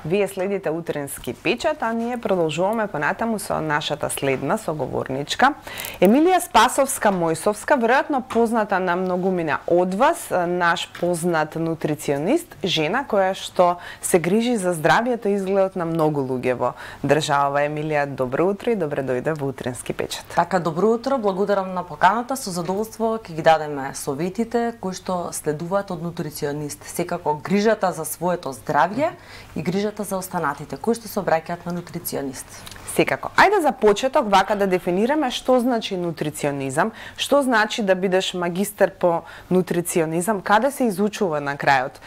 Вие следите Утренски печат, а ние продолжуваме понатаму со нашата следна соговорничка. Емилија Спасовска-Мојсовска, веројатно позната на многумина од вас, наш познат нутриционист, жена која што се грижи за здравието и изгледот на многу луѓе во држава. Емилија, добро утро и добре дојде во Утренски печат. Така, добро утро, благодарам на поканата, со задоволство ќе ги дадеме советите кои што следуваат од нутриционист. Секако грижата за своето здравје и грижата за останатите кои што се обраќаат на нутриционист. Секако. Ајде за почеток вака да дефинираме што значи нутриционизам, што значи да бидеш магистер по нутриционизам, каде се изучува на крајот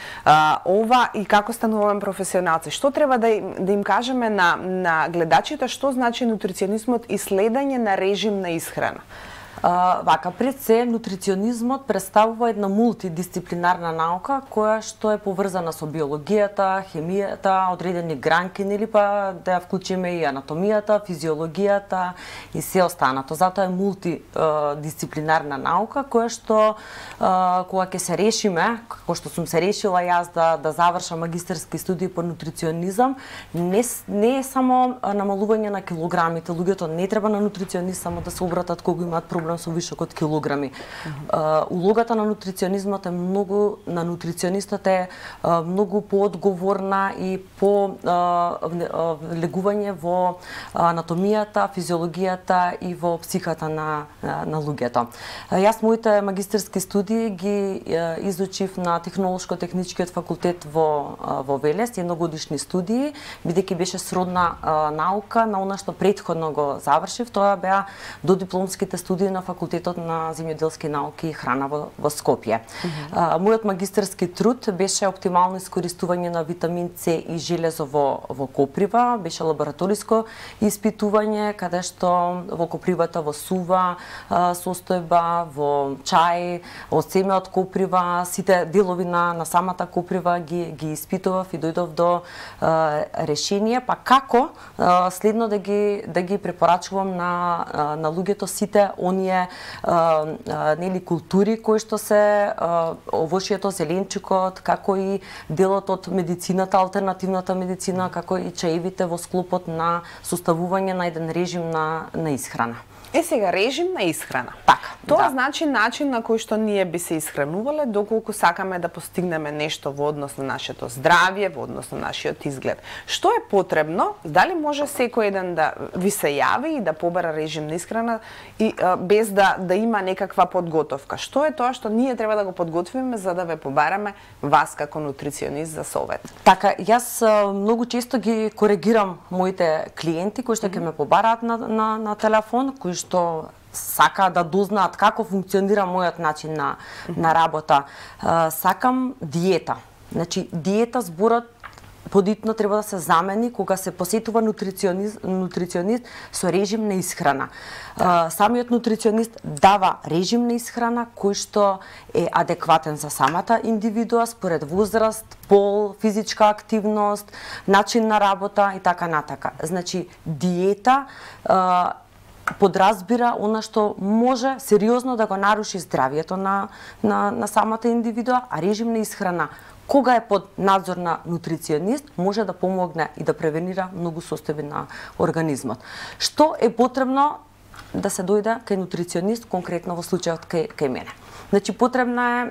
ова и како стануваме професионалци. Што треба да им кажеме на гледачите што значи нутриционизмот и следење на режим на исхрана? Вака, пред се, нутриционизмот представува една мултидисциплинарна наука која што е поврзана со биологијата, хемијата, одредени гранки, или па да ја вклучиме и анатомијата, физиологијата и се останато. Затоа е мултидисциплинарна наука која што кога ќе се решиме, како што сум се решила јас да завршам магистерски студии по нутриционизам, не е само намалување на килограмите. Луѓето не треба на нутриционист само да се обратат кога имаат проблем со вишок од килограми. Улогата на нутриционизмот е на нутриционистот е многу поодговорна и по влегување во анатомијата, физиологијата и во психата на луѓето. Јас моите магистерски студии ги изучив на Технолошко-техничкиот факултет во Велес, едногодишни студии, бидејќи беше сродна наука на она што претходно го завршив. Тоа беа додипломските студии на факултетот на земјоделски науки и храна во Скопје. Мојот магистерски труд беше оптимално искористување на витамин С и железо во коприва, беше лабораториско испитување каде што во копривата во сува состојба, во чај, од семе од коприва, сите делови на самата коприва ги испитував и дојдов до решение, па како следно да ги препорачувам на луѓето сите оние нели култури кои што се овошјето, зеленчукот, како и делот од медицината, алтернативната медицина, како и чаевите во склопот на составување на еден режим на исхрана. Сега, режим на исхрана. Така, Тоа значи начин на кој што ние би се исхранувале доколку сакаме да постигнеме нешто во однос на нашето здравје, во однос на нашиот изглед. Што е потребно? Дали може секој еден да ви се јави и да побара режим на исхрана и без да има некаква подготовка? Што е тоа што ние треба да го подготвиме за да ве побараме вас како нутриционист за совет? Така, јас многу често ги коригирам моите клиенти кои што ќе ме побараат на телефон, кои што сакаат да дознаат како функционира мојот начин на работа. Сакам диета. Значи, диета зборот подитно треба да се замени кога се посетува нутриционист со режим на исхрана. Самиот нутриционист дава режим на исхрана кој што е адекватен за самата индивидуа според возраст, пол, физичка активност, начин на работа и така натака. Значи, диета подразбира она што може сериозно да го наруши здравието на самата индивидуа, а режим на исхрана кога е под надзор на нутриционист може да помогне и да превенира многу состојби на организмот. Што е потребно да се дојде кај нутриционист, конкретно во случајот кај мене? Значи, потребна е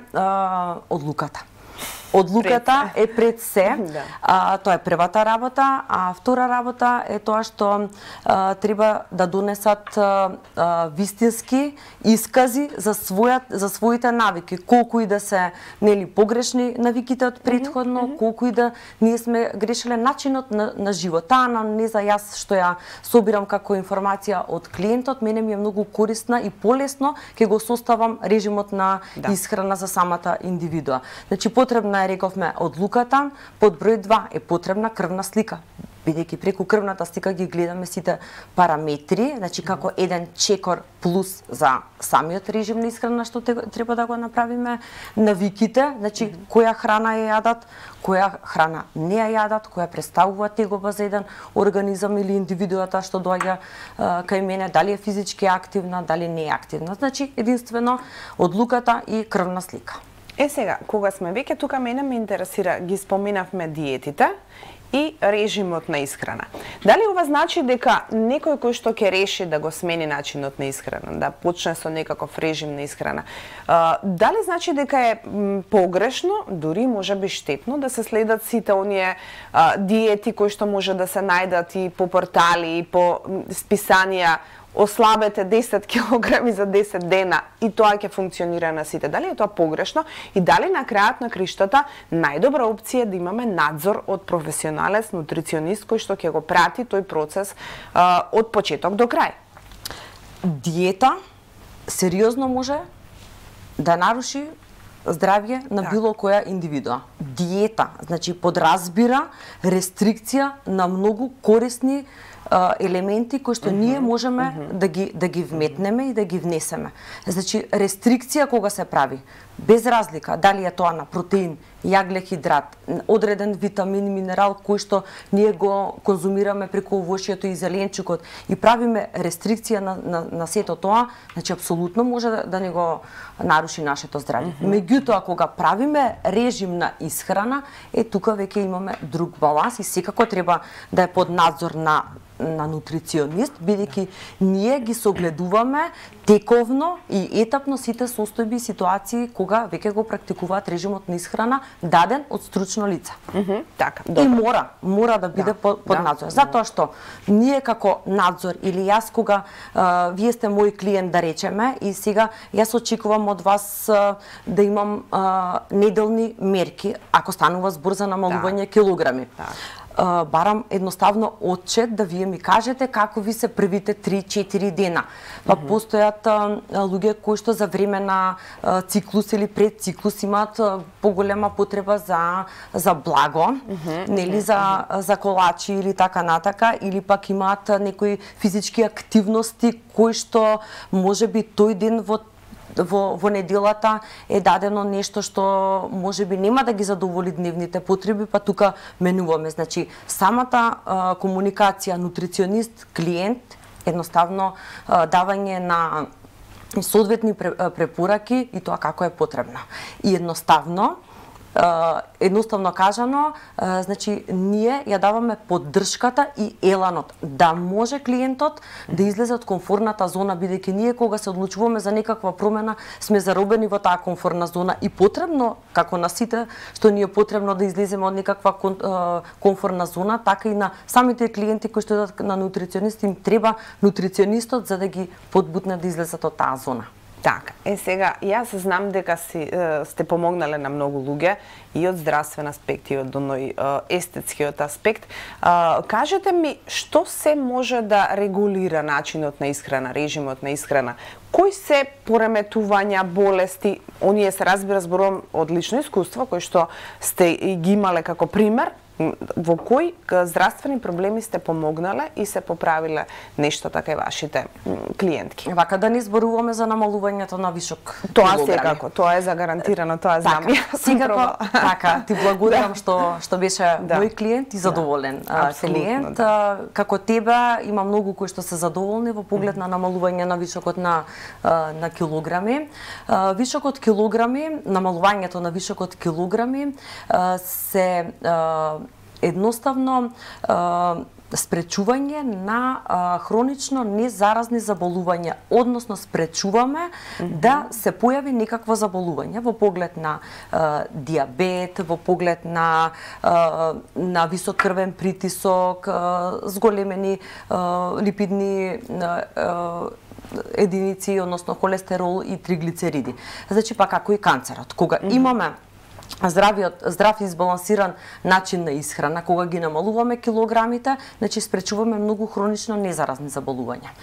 одлуката. Одлуката е пред се, тоа е првата работа, а втора работа е тоа што треба да донесат вистински искази за своите навики, колку и да се нели погрешни навиките од претходно, колку и да ние сме грешиле начинот на живот. Таа анамнеза јас што ја собирам како информација од клиентот, мене ми е многу корисна и полесно ќе го составам режимот на исхрана за самата индивидуа. Значи, потребна е, рековме, одлуката, под број 2 е потребна крвна слика. Бидејќи преку крвната слика ги гледаме сите параметри, значи како еден чекор плюс за самиот режим на исхрана што треба да го направиме, навиките, значи која храна ја јадат, која храна не ја јадат, која представува тегоба за еден организам или индивидуата што доаѓа кај мене, дали е физички активна, дали не е активна. Значи единствено одлуката и крвна слика. Сега, кога сме веќе тука, мене ме интересира, ги споменавме диетите и режимот на исхрана. Дали ова значи дека некој кој што ќе реши да го смени начинот на исхрана, да почне со некаков режим на исхрана, дали значи дека е погрешно, дури можеби штетно да се следат сите оние диети кои што може да се најдат и по портали и по списанија, ослабете 10 килограми за 10 дена и тоа ќе функционира на сите. Дали е тоа погрешно и дали на крајот на криштата најдобра опција е да имаме надзор од професионалец, нутриционист кој што ќе го прати тој процес од почеток до крај? Диета сериозно може да наруши здравје на било која индивидуа. Диета, значи подразбира рестрикција на многу корисни елементи кои што ние можеме да ги вметнеме и да ги внесеме. Значи рестрикција кога се прави, без разлика дали е тоа на протеин, јаглехидрат, одреден витамин, минерал кој што ние го конзумираме преку овошјето и зеленчукот и правиме рестрикција на сето тоа, значи апсолутно може да не го наруши нашето здравје. Меѓутоа кога правиме режим на исхрана, тука веќе имаме друг баланс и секако треба да е под надзор на нутриционист, бидејќи ние ги согледуваме тековно и етапно сите состојби и ситуации кога веќе го практикуваат режимот на исхрана даден од стручно лице. Така, и мора да биде под надзор. Затоа што ние како надзор или јас кога вие сте мој клиент да речеме и сега јас очекувам од вас да имам неделни мерки ако станува збор за намалување килограми. Барам едноставно отчет да вие ми кажете како ви се првите 3-4 дена. Па постојат луѓе кои што за време на циклус или пред циклус имаат поголема потреба за благо, нели за колачи или така натака, или пак имаат некои физички активности кои што можеби тој ден во неделата е дадено нешто што можеби нема да ги задоволи дневните потреби, па тука менуваме. Значи, самата комуникација нутриционист-клиент, едноставно давање на соодветни препораки и тоа како е потребно. И едноставно кажано, значи ние ја даваме поддршката и еланот да може клиентот да излезе од комфорната зона, бидејќи ние кога се одлучуваме за некаква промена сме заробени во таа комфорна зона и потребно, како на сите што ни е потребно да излеземе од некаква комфорна зона, така и на самите клиенти кои што идат на нутриционист им треба нутриционистот за да ги подбутне да излезат од таа зона. Така, сега, јас знам дека сте помогнале на многу луѓе и од здравствен аспект и од оној естетскиот аспект. Кажете ми, што се може да регулира начинот на исхрана, режимот на исхрана? Кои се пореметувања, болести, оние се разбира зборувам од лично искуство, кои што сте ги имале како пример, во кои здравствени проблеми сте помогнале и се поправиле нешто така и вашите клиентки? Вака да не зборуваме за намалувањето на вишок тоа килограми. Секако, тоа е загарантирано, тоа знам. Секако, така, ти благодарам што беше мој клиент и задоволен клиент. Како тебе има многу кои што се задоволни во поглед на намалување на вишокот на килограми. Вишокот килограми, намалувањето на вишокот килограми се едноставно спречување на хронично незаразни заболувања, односно спречуваме да се појави некакво заболување во поглед на диабет, во поглед на висок крвен притисок, зголемени липидни единици, односно холестерол и триглицериди. Значи па како и канцерот. Кога имаме здрав и избалансиран начин на исхрана, кога ги намалуваме килограмите, значи спречуваме многу хронично незаразни заболувања.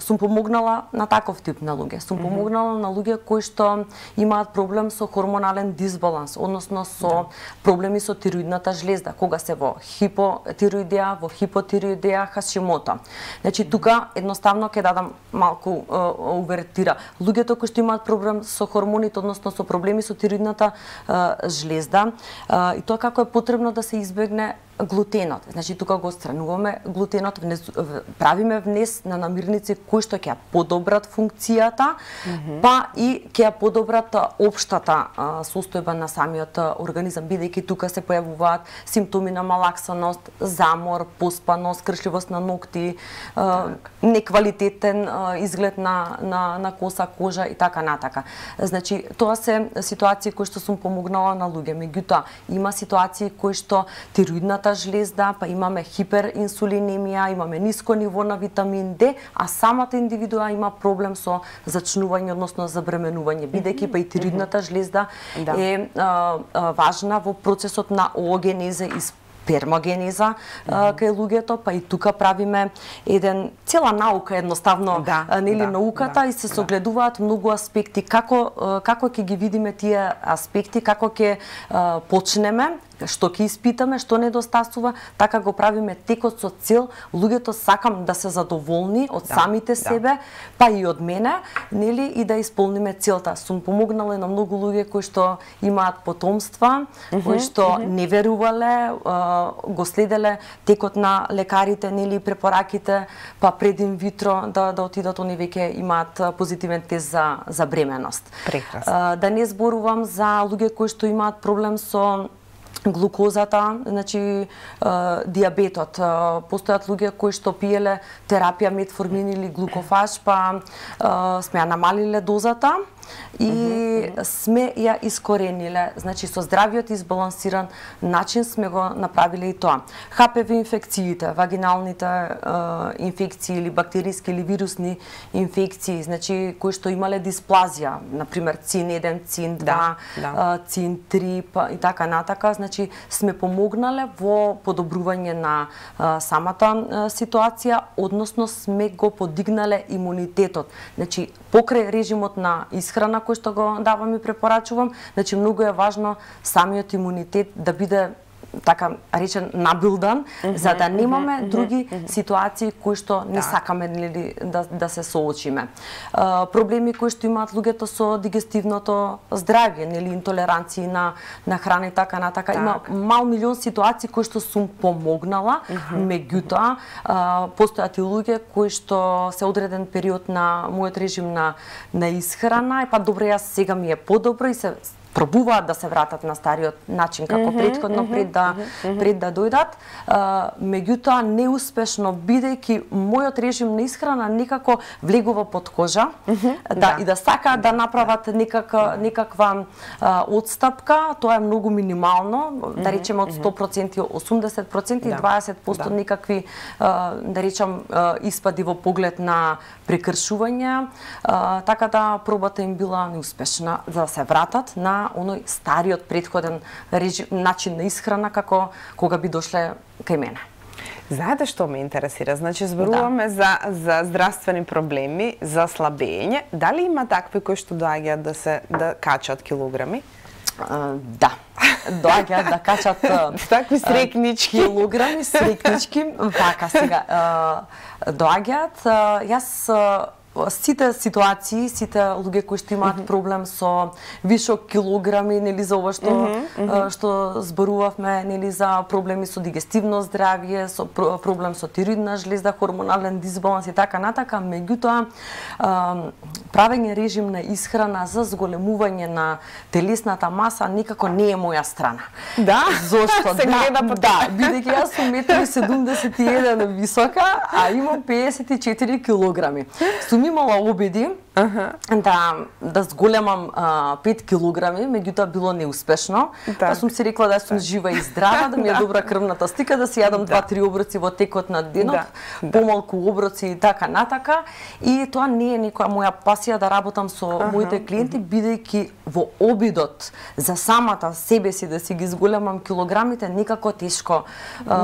Сум помогнала на таков тип на луѓе. Сум помогнала на луѓе кои што имаат проблем со хормонален дисбаланс, односно со проблеми со тироидната жлезда, кога се во хипотироидеа, во хипотироидеа Хашимото. Значи тука едноставно ќе дадам малку увертира. Луѓето кои што имаат проблем со хормоните, односно со проблеми со тироидната жлезда, и тоа како е потребно да се избегне глутенот. Значи тука го отстрануваме глутенот, правиме внес на намирници кои што ќе подобрат функцијата, па и ќе подобрат општата состојба на самиот организам, бидејќи тука се појавуваат симптоми на малаксаност, замор, поспаност, кршливост на ногти, неквалитетен изглед на коса, кожа и така натака. Значи тоа се ситуации кои што сум помогнала на луѓе. Меѓутоа има ситуации кои што тироидната жлезда, па имаме хиперинсулинемија, имаме ниско ниво на витамин Д, а самата индивидуа има проблем со зачнување, односно забременување, бидејќи па и тироидната жлезда е важна во процесот на оогенеза и спермогенеза кај луѓето, па и тука правиме цела наука едноставно, нели науката, и се согледуваат многу аспекти како ќе ги видиме тие аспекти, како ќе почнеме, што ќе испитаме, што недостасува, така го правиме текот со цел луѓето сакам да се задоволни од самите себе, па и од мене, нели, и да исполниме целта. Сум помогнала на многу луѓе кои што имаат потомства, кои што не верувале, го следеле текот на лекарите, нели, препораките, па пред инвитро да отидат, они веќе имаат позитивен тест за бременост. Прекрасно. Да не зборувам за луѓе кои што имаат проблем со глукозата, значи диабетот. Постојат луѓе кои што пиеле терапија метформин или глукофаж, па сме ја намалиле дозата и сме ја искорениле. Значи со здравиот избалансиран начин сме го направиле и тоа. ХПВ инфекциите, вагиналните инфекции или бактериски или вирусни инфекции, значи кои што имале дисплазија, например ЦИН-1, ЦИН-2, ЦИН-3 и така натака, значи сме помогнале во подобрување на самата ситуација, односно сме го подигнале имунитетот. Значи покрај режимот на исхрана кој што го давам и препорачувам, значи многу е важно самиот имунитет да биде така речен набилдан, за да немаме други ситуации кои што не сакаме да се соочиме. Проблеми кои што имаат луѓето со дигестивното здравје, нели, интолеранции на храна и така натака. Има мал милион ситуации кои што сум помогнала, меѓутоа постојат и луѓе кои што се одреден период на мојот режим на исхрана, и па добро, јас сега ми е подобро и се пробуваат да се вратат на стариот начин како претходно пред да дојдат, меѓутоа неуспешно, бидејќи мојот режим на исхрана некако влегува под кожа, и да сакаат да направат некаква отстапка, тоа е многу минимално, да речеме од 100%, 80% и 20% некакви, да речем, испади во поглед на прекршување, така да пробата им била неуспешна за да се вратат на оној стариот претходен начин на исхрана како кога би дошле кај мене. Знаете што ме интересира? Значи, зборуваме за здравствени проблеми, за слабење. Дали има такви кои што доаѓаат да качат килограми? Да. Доаѓаат да качат такви срекнички килограми, срекнички. Вака сега доаѓаат. Јас сите ситуации, сите луѓе кои што имаат проблем со вишок килограми, нели, за ова што зборувавме, нели, за проблеми со дигестивно здравје, со проблем со тироидна жлезда, хормонален дисбаланс и така натака, меѓутоа правење режим на исхрана за зголемување на телесната маса никако не е моја страна. Да? Зошто? Се гледа по тоа. Бидејќи јас сум 1,71 м висока, а имам 54 килограми. Сум имала обиди да зголемам 5 килограми, меѓутоа било неуспешно. Па сум си рекла да сум жива и здрава, да ми е добра крвната стика, да си јадам 2-3 оброци во текот на денот, помалку оброци и така натака. И тоа не е некоја моја пасија да работам со моите клиенти, бидејќи во обидот за самата себе си да си ги зголемам килограмите некако тешко и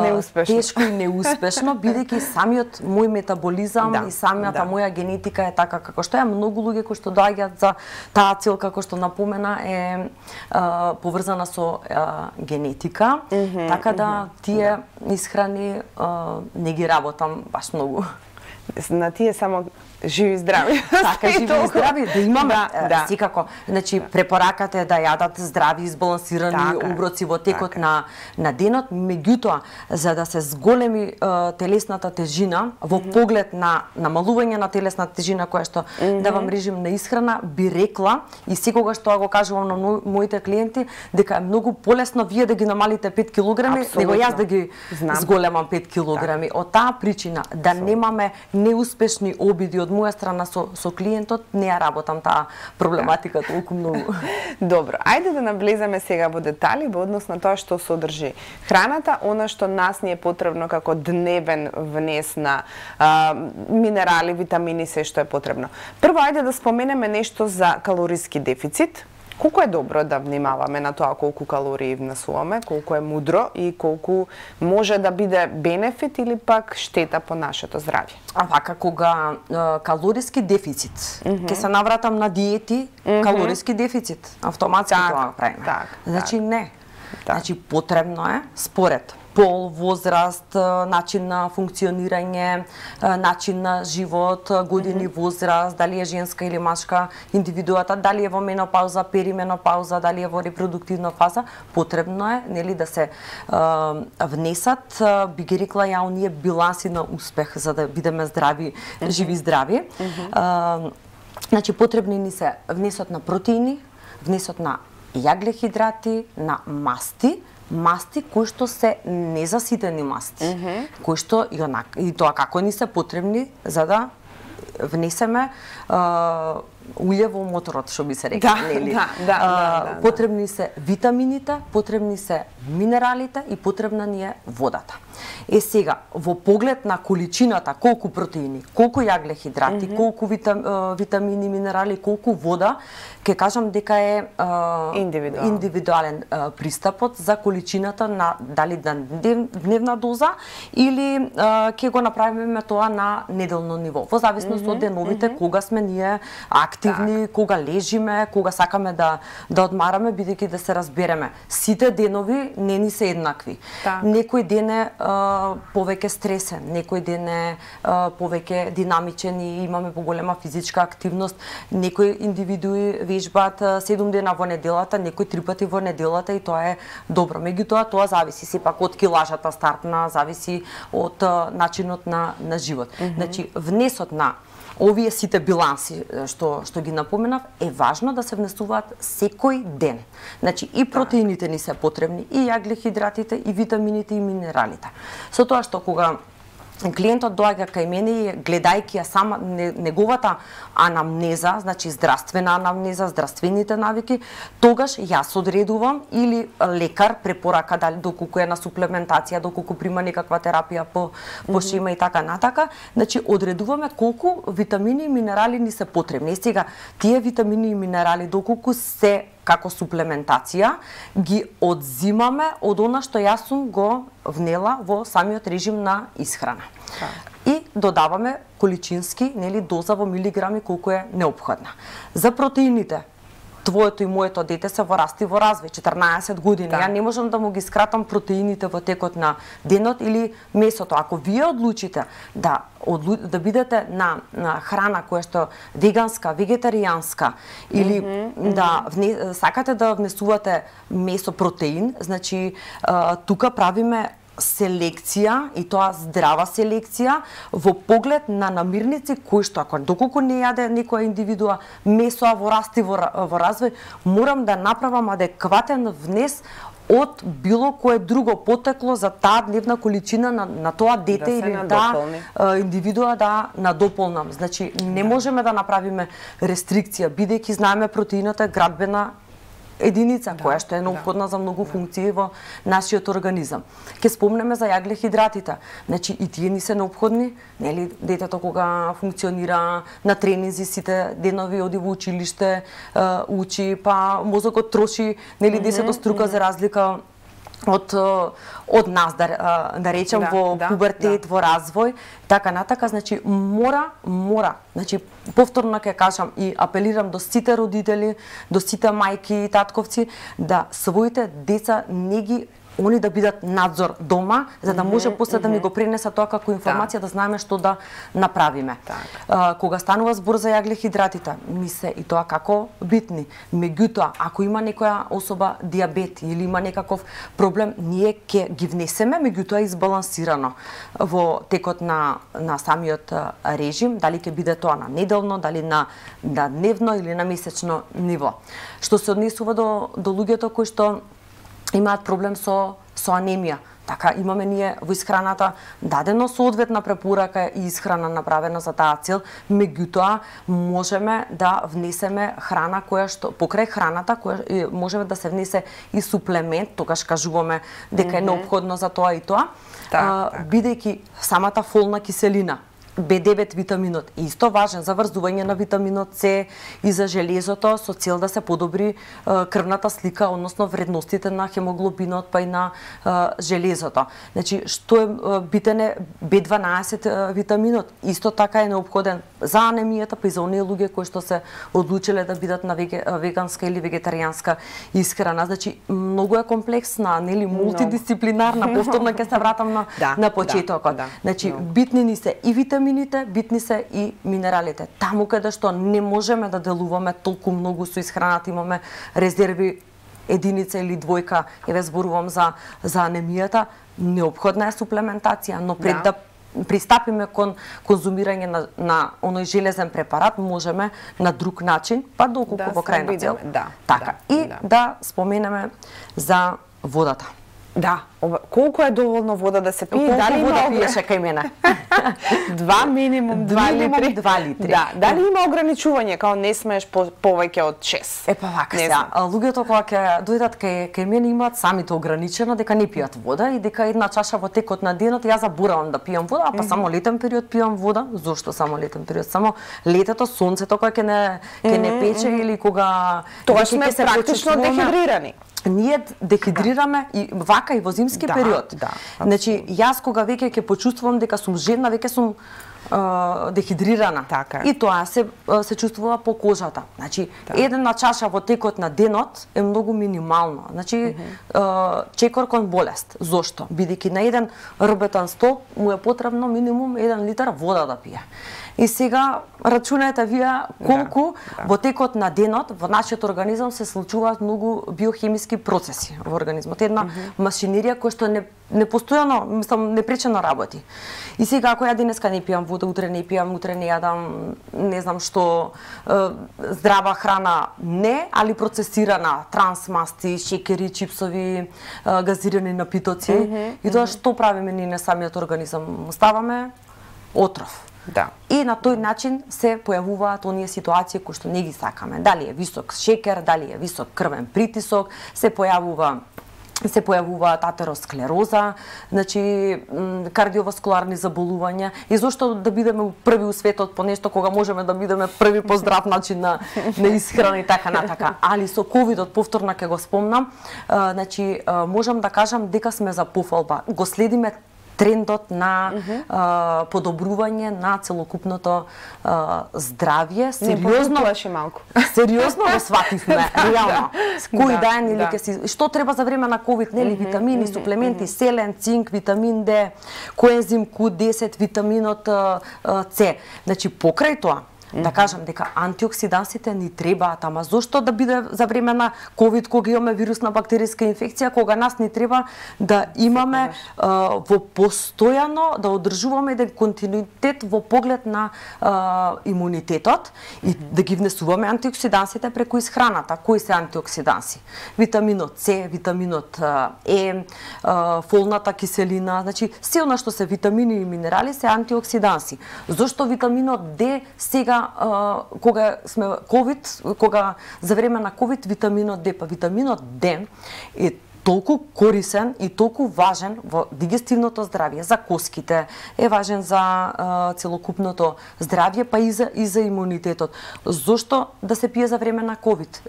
неуспешно, бидејќи самиот мој метаболизам и самата моја генетика е така како што е. Многу луѓе кои што доаѓаат за таа цел, како што напомена, е поврзана со генетика, така да тие исхрани не ги работам баш многу. на тие само живи здрави. Така, живи и здрави, да имаме секако. Значи, препораката е да јадат здрави, избалансирани оброци во текот на денот, меѓутоа, за да се зголеми телесната тежина, во поглед на намалување на телесната тежина, која што давам режим на исхрана, би рекла, и секогаш тоа го кажувам на моите клиенти, дека е многу полесно вие да ги намалите 5 килограми, него јас да ги зголемам 5 килограми. Од таа причина, да немаме неуспешни обиди од моја страна со клиентот, не ја работам таа проблематика толку многу. Добро, ајде да навлеземе сега во детали во однос на тоа што содржи храната, она што нас ни е потребно како дневен внес на минерали, витамини, се што е потребно. Прво, ајде да споменеме нешто за калориски дефицит. Колку е добро да внимаваме на тоа колку калории внесуваме, колку е мудро и колку може да биде бенефит или пак штета по нашето здравје? Вака, кога калориски дефицит, ќе се навратам на диети, калориски дефицит, автоматски тоа правиме. Значи не. Значи потребно е според пол, возраст, начин на функционирање, начин на живот, години возраст, дали е женска или машка индивидуата, дали е во менопауза, перименопауза, дали е во репродуктивна фаза, потребно е нели да се внесат, би ги рекла ја, оние биланси на успех за да бидеме здрави, живи здрави. Значи потребни ни се внесот на протеини, внесот на јаглехидрати, на масти кои што се незаситени масти, кои што и тоа како ни се потребни за да внесеме улје во моторот, што би се рекла, нели? Потребни се витамините, потребни се минералите и потребна ни е водата. Сега, во поглед на количината, колку протеини, колку јаглехидрати, колку витамини, минерали, колку вода, ќе кажам дека е индивидуален пристапот за количината на дали на дневна доза или ќе го направиме тоа на неделно ниво. Во зависност од деновите, кога сме ние активни, кога лежиме, кога сакаме да одмараме, бидејќи да се разбереме. Сите денови не ни се еднакви. Некој ден е повеќе стресен, некој ден е повеќе динамичен и имаме поголема физичка активност, некои индивидуи вежбаат 7 дена во неделата, некои 3 пати во неделата и тоа е добро. Меѓутоа тоа зависи сепак од килажата стартна, зависи од начинот на живот. Значи внесот на овие сите биланси што ги напоменав е важно да се внесуваат секој ден. Значи и протеините ни се потребни, и јаглехидратите, и витамините и минералите. Со тоа што кога клиентот доаѓа кај мене и гледајќи ја сама неговата анамнеза, значи здравствена анамнеза, здравствените навики, тогаш јас одредувам или лекар препорака дали доколку е на суплементација, доколку прима некаква терапија по шема и така натака, значи одредуваме колку витамини и минерали ни се потребни. И сега тие витамини и минерали доколку се како суплементација ги одзимаме од она што јас сум го внела во самиот режим на исхрана. И додаваме количински, нели, доза во милиграми колку е неопходна. За протеините, твоето и моето дете се во раст и во развој, 14 години. Ја не можам да му ги скратам протеините во текот на денот или месото. Ако вие одлучите да бидете на храна која што веганска, вегетаријанска или сакате да внесувате месо, протеин, значи тука правиме селекција и тоа здрава селекција во поглед на намирници кои што ако доколку не јаде некоја индивидуа месо во раст и во развој, морам да направам адекватен внес од било кое друго потекло за таа дневна количина на тоа дете или таа индивидуа да надополнам. Значи не можеме да направиме рестрикција бидејќи знаеме протеината е градбена единица која што е неопходна за многу функции во нашиот организам. Ке спомнеме за јаглехидратите. Значи и тие ни се неопходни, нели, детето кога функционира на тренинзи сите денови, оди во училиште, учи, па мозокот троши, нели, 10 струка за разлика од нас, да речем, во пубертет, во развој, така натака, значи мора, значи повторно ќе кажам и апелирам до сите родители, до сите мајки и татковци, да своите деца не ги они да бидат надзор дома, за да може после да ми го пренесат тоа како информација, да знаеме што да направиме. Кога станува збор за јаглехидратите, ми се и тоа како битни. Меѓутоа, ако има некоја особа диабет или има некаков проблем, ние ќе ги внесеме, меѓутоа избалансирано во текот на самиот режим, дали ќе биде тоа на неделно, дали на дневно или на месечно ниво. Што се однесува до луѓето кои што имаат проблем со анемија. Така, имаме ние во исхраната дадено соодветна препорака и исхрана направена за таа цел, меѓутоа можеме да внесеме храна која што покрај храната која можеме да се внесе и суплемент, тогаш кажуваме дека е неопходно за тоа и тоа, бидејќи самата фолна киселина, B9 витаминот е исто важен за врзување на витаминот С и за железото со цел да се подобри крвната слика, односно вредностите на хемоглобинот па и на железото. Значи, што е битен е B12 витаминот, исто така е неопходен за анемијата, па и за оние луѓе кои што се одлучиле да бидат на веганска или вегетаријанска исхрана. Значи, многу е комплексна, нели, мултидисциплинарна, повторно ќе се вратам на почетокот. Значи, битни ни се и витамините, битни се и минералите. Таму каде што не можеме да делуваме толку многу со исхраната, имаме резерви единица или двојка, еве зборувам за анемијата, неопходна е суплементација, но пред да пристапиме кон конзумирање на оној железен препарат, можеме на друг начин, па доколку во крајна цел. Така, и да споменеме за водата. Да, колку е доволно вода да се пие? Дали вода пиеше кај мене? Минимум 2 литри. Да, дали има ограничување, као не смееш повеќе од 6? Епа вака се. Луѓето кога ќе дојдат кај мене имаат самите ограничено дека не пијат вода и дека една чаша во текот на денот јас заборавам да пијам вода, а па само летен период пијам вода. Зошто само летен период? Само летото, сонцето кога ќе не пече или кога тоа сме практично дехидрирани. Ние дехидрираме и вака и во зимски период. Значи, јас кога веќе ќе почувствувам дека сум жедна, веќе сум дехидрирана. Така. И тоа се чувствува по кожата. Значи, една чаша во текот на денот е многу минимално. Значи, чекор кон болест. Зошто? Бидејќи на еден рбетан стол му е потребно минимум 1 литар вода да пие. И сега рачунајте вие колку во текот на денот во нашиот организам се случуваат многу биохемиски процеси во организмот. Една машинерија која што не постојано, мислам, непречено работи. И сега ако ја денеска не пијам вода, утре не пијам, утре не јадам, не знам што, здрава храна не, али процесирана, трансмасти, шекери, чипсови, газирани напитоци. И тоа што правиме ние на самиот организам? Ставаме отров. Да. И на тој начин се појавуваат оние ситуации кои што не ги сакаме. Дали е висок шекер, дали е висок крвен притисок, се појавува атеросклероза, значи кардиоваскуларни заболувања. И зошто да бидеме први у светот по нешто кога можеме да бидеме први по здрав начин на исхрана и така натака. Али со ковидот, повторно ќе го спомнам, значи можам да кажам дека сме за пофалба. Го следиме трендот на подобрување на целокупното здравје. Сериозно плаши малку. Сериозно го свативме, реално. Кој ден или ќе си што треба за време на ковид, нели, витамини, суплементи, селен, цинк, витамин Д, коензим Q10, витаминот С. Значи покрај тоа да кажам дека антиоксидансите ни требаат, ама зошто да биде за време на ковид кога имаме вирусна бактериска инфекција, кога нас ни треба да имаме во постојано да одржуваме еден континуитет во поглед на имунитетот и да ги внесуваме антиоксидансите преку исхраната. Кои се антиоксиданси? Витаминот С, витаминот Е, фолната киселина, значи се она што се витамини и минерали се антиоксиданси. Зошто витаминот Д сега кога сме ковид, кога за време на ковид витаминот Д, па витаминот Д е толку корисен и толку важен во дигестивното здравје, за коските, е важен за целокупното здравје, па и за имунитетот. Зошто да се пие за време на ковид?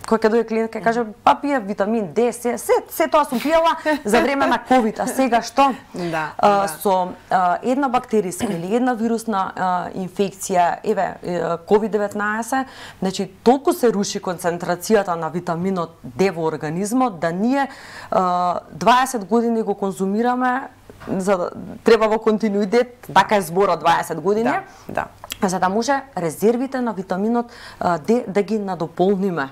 Кој ќе дое клиент ќе каже па пие витамин Д, се тоа сум пиела за време на ковид, а сега што? Со една бактериска или една вирусна инфекција, еве COVID-19, значи толку се руши концентрацијата на витаминот Д во организмот да ние 20 години го конзумираме, за да треба во континуитет, така е зборот 20 години. За да може резервите на витаминот Д да ги надополниме.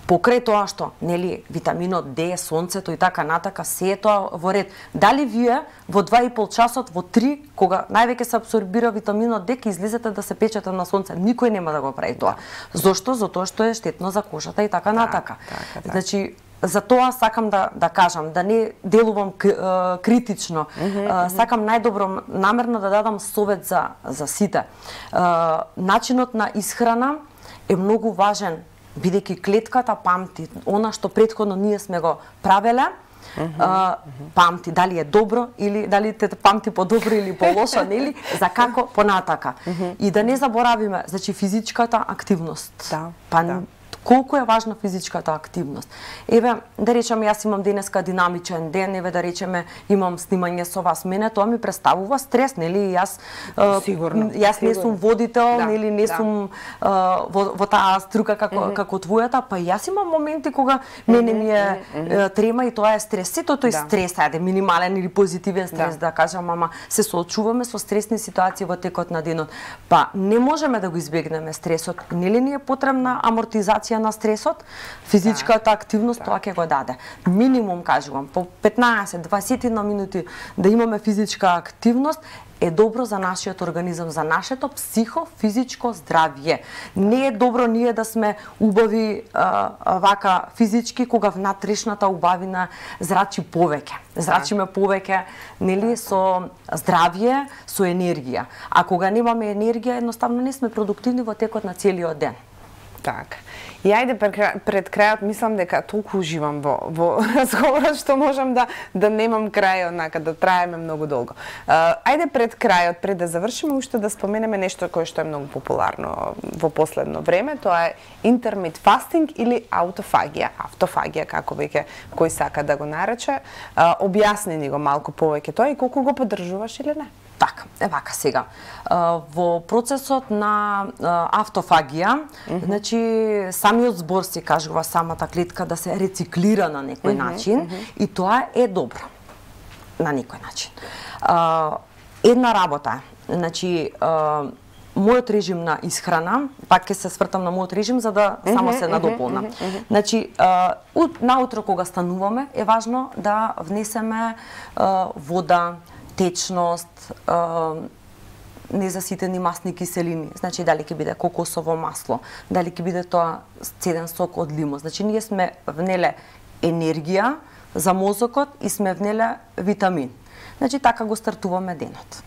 Покрај тоа што, нели, витаминот Д, сонцето и така натака, се е тоа во ред. Дали вие во 2,5 часот, во 3, кога највеќе се абсорбира витаминот Д, ќе излезете да се печете на сонце? Никој нема да го прави тоа. Зошто? Затоа што е штетно за кожата и така натака. Значи, за тоа сакам да кажам, да не делувам критично. Сакам најдобро намерно да дадам совет за сите. Начинот на исхрана е многу важен, бидејќи клетката памти она што претходно ние сме го правеле, памти дали е добро или дали те памти подобро или полошо, нели, за како понатака. И да не заборавиме, значи физичката активност. Колку е важна физичката активност. Еве, да речеме, јас имам денеска динамичен ден, еве да речеме, имам снимање со вас, мене тоа ми представува стрес, нели? Јас не сум водител, нели, не сум во таа струка како твојата, па јас имам моменти кога мене ми е трема и тоа е стрес. Сето тој стрес, ајде, минимален или позитивен стрес, да кажам, ама се соочуваме со стресни ситуации во текот на денот. Па не можеме да го избегнеме стресот. Нели ни е потребна амортизација на стресот, физичката активност тоа ќе го даде. Минимум, кажувам, по 15-20 минути да имаме физичка активност е добро за нашиот организам, за нашето психофизичко здравје. Не е добро ние да сме убави вака физички, кога внатрешната убавина зрачи повеќе. Зрачиме повеќе, нели, со здравје, со енергија. А кога немаме енергија, едноставно не сме продуктивни во текот на целиот ден. Така. И ајде пред крајот, мислам дека толку уживам во разговорот што можам да немам крај, онака да траеме многу долго. Ајде пред крајот, пред да завршиме, уште да споменеме нешто кое што е многу популарно во последно време, тоа е intermittent fasting или автофагија, како веќе кој сака да го нарече. Објасни ни го малку повеќе тоа и колку го поддржуваш или не? Така, вака сега. Во процесот на автофагија, значи самиот збор се кажува самата клетка да се рециклира на некој начин и тоа е добро на некој начин. Една работа, значи мојот режим на исхрана, пак ќе се свртам на мојот режим за да само се надополнам. Значи, наутро кога стануваме е важно да внесеме вода, течност, незаситени масни киселини, значи дали ќе биде кокосово масло, дали ќе биде тоа цеден сок од лимон. Значи ние сме внеле енергија за мозокот и сме внеле витамин. Значи така го стартуваме денот.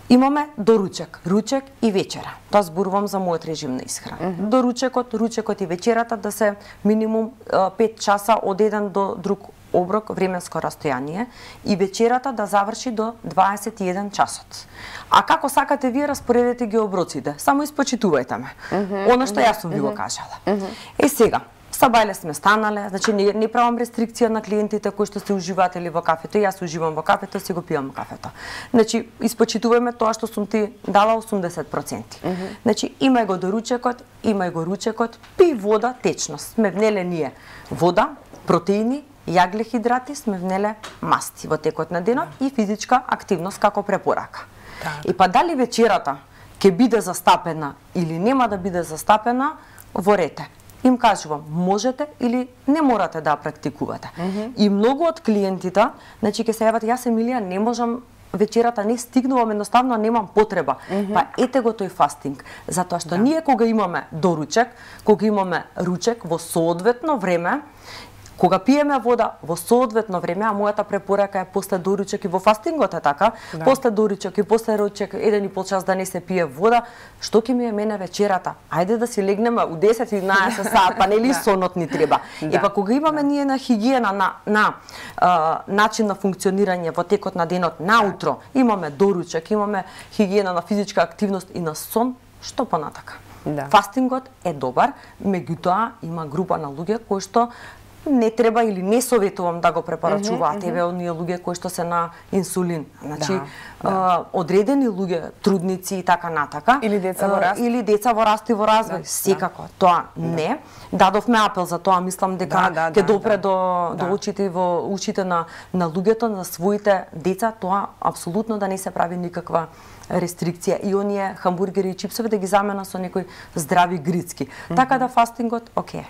Имаме доручек, ручек и вечера. Тоа зборувам за мојот режим на исхрана. Доручекот, ручекот и вечерата да се минимум 5 часа од еден до друг оброк, временско растојание, и вечерата да заврши до 21 часот. А како сакате вие, распоредете ги оброците. Само испочитувајте ме. Она што јас сум ви го кажала. Сега, сабајле сме станале, значи не правам рестрикција на клиентите кои што се уживатели во кафето. Јас уживам во кафето, си го пијам кафето. Значи, испочитувајме тоа што сум ти дала 80%. Значи, имај го доручекот, имај го ручекот, пи вода, течност. Сме внеле ние вода, протеини, јаглехидрати, сме внеле масти во текот на денот и физичка активност како препорака. И па дали вечерата ќе биде застапена или нема да биде застапена, во рете. Им кажувам, можете или не морате да практикувате. И многу од клиентите, значи ќе се јават, јас Емилија не можам вечерата, не стигнувам, едноставно немам потреба. Па ете го тој фастинг, затоа што ние кога имаме доручек, кога имаме ручек во соодветно време, кога пиеме вода во соодветно време, а мојата препорака е после доручек и во фастингот е така, после доручек и после ручек 1,5 час да не се пие вода, што ќе ми е мене вечерата? Ајде да си легнеме у 10-11 саат, па нели сонот ни треба. И па кога имаме ние на хигиена, на начин на функционирање во текот на денот, наутро, имаме доручек, имаме хигиена на физичка активност и на сон, што понатака? Да. Фастингот е добар, меѓутоа има група на луѓе кои што не треба или не советувам да го препорачуваат еве оние луѓе кои што се на инсулин. Значи одредени луѓе, трудници и така натака, или деца во раст, или деца во раст и во развој, секако. Тоа не. Дадовме апел за тоа, мислам дека ќе допре до очите во ушите на луѓето, на своите деца, тоа апсолутно да не се прави никаква рестрикција и оние хамбургери и чипсови да ги замена со некои здрави грицки. Така да фастингот окей.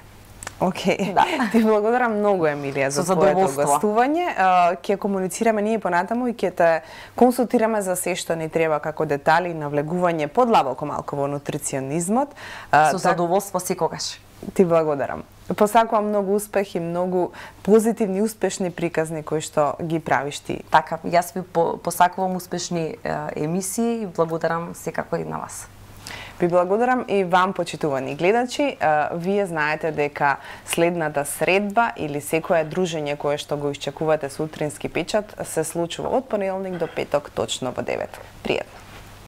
Океј. Да. Ти благодарам многу, Емилија, за твоето гостување. Ќе комуницираме ние понатаму и ќе те консултираме за се што ни треба како детали и навлегување подлабоко малку во нутриционизмот. Со задоволство секогаш. Ти благодарам. Посакувам многу успех и многу позитивни, успешни приказни кои што ги правиш ти. Така, јас ви посакувам успешни емисии и благодарам секако и на вас. Ви благодарам и вам, почитувани гледачи. Вие знаете дека следната средба или секое дружење кое што го исчекувате со утрински печат се случува од понеделник до петок точно во 9. Пријатно.